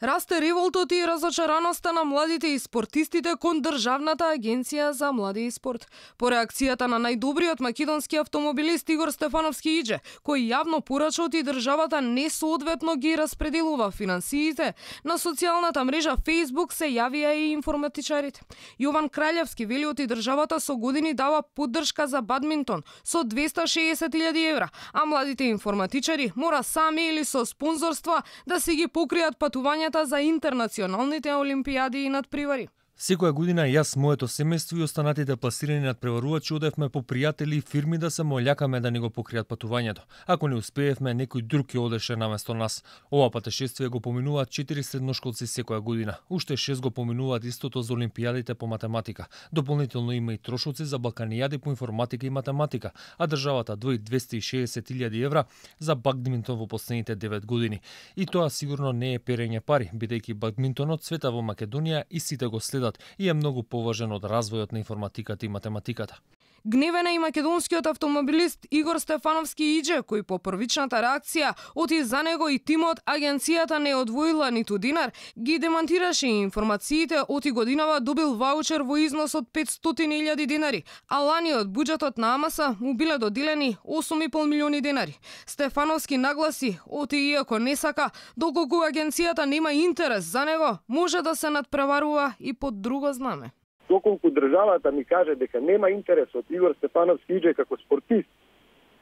Расте револтот и разочараноста на младите и спортистите кон Државната агенција за млади и спорт. По реакцијата на најдобриот македонски автомобилист Игор Стефановски Иџе, кој јавно порача и државата несоодветно ги распределува финансиите, на социјалната мрежа Facebook се јавија и информатичарите. Јован Краљевски вели оти државата со години дава поддршка за бадминтон со 260.000 евра, а младите информатичари мора сами или со спонзорства да си ги покријат патувањата за интернационалните олимпијади и надпревари. Секоја година јас, моето семејство и останатите пласирани надпреварувачи одевме по пријатели и фирми да се молјакаме да ни го покријат патувањето. Ако не успеевме, некој друг ќе одеше наместо нас. Ова патешествие го поминуваат 4 средношколци секоја година. Уште 6 го поминуваат истото за олимпијадите по математика. Дополнително има и трошоци за балканијади по информатика и математика, а државата двои 260.000 евра за бадминтон во последните 9 години. И тоа сигурно не е перење пари, бидејќи бадминтонот цвета во Македонија и сите го следат и е многу поважен од развојот на информатиката и математиката. Гневен е и македонскиот автомобилист Игор Стефановски Иџе, кој по првичната реакција оти за него и тимот агенцијата не одвоила ниту динар, ги демантираше и информациите оти годинава добил ваучер во износ од 500.000 динари, а лани од буџетот на АМС му биле доделени 8,5 милиони динари. Стефановски нагласи оти иако не сака, доколку агенцијата нема интерес за него, може да се надпреварува и под друго знаме. Доколку државата ми каже дека нема интерес од Игор Стефановски Иџе како спортист,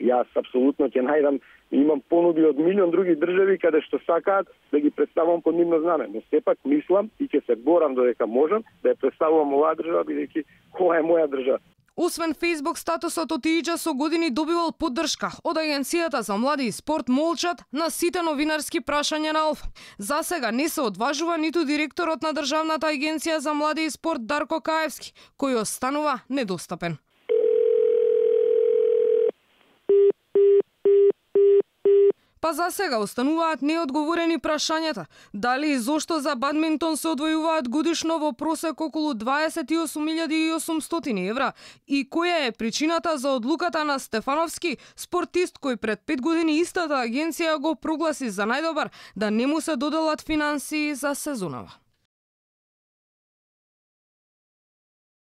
јас апсолутно ќе најдам, имам понуди од милион други држави каде што сакаат да ги представам под нивно знаме, но сепак мислам и ќе се борам додека можам да ја представувам оваа држава, бидејќи ова е моја држава. Освен Facebook статусот од Иџе со години добивал поддршка од Агенцијата за млади и спорт Молчат на сите новинарски прашања на Алфа. За сега не се одважува ниту директорот на Државната агенција за млади и спорт Дарко Каевски, кој останува недостапен. Па за сега остануваат неодговорени прашањата. Дали и зошто за бадминтон се одвојуваат годишно во просек околу 28.800 евра и која е причината за одлуката на Стефановски, спортист кој пред 5 години истата агенција го прогласи за најдобар, да не му се доделат финансии за сезонава.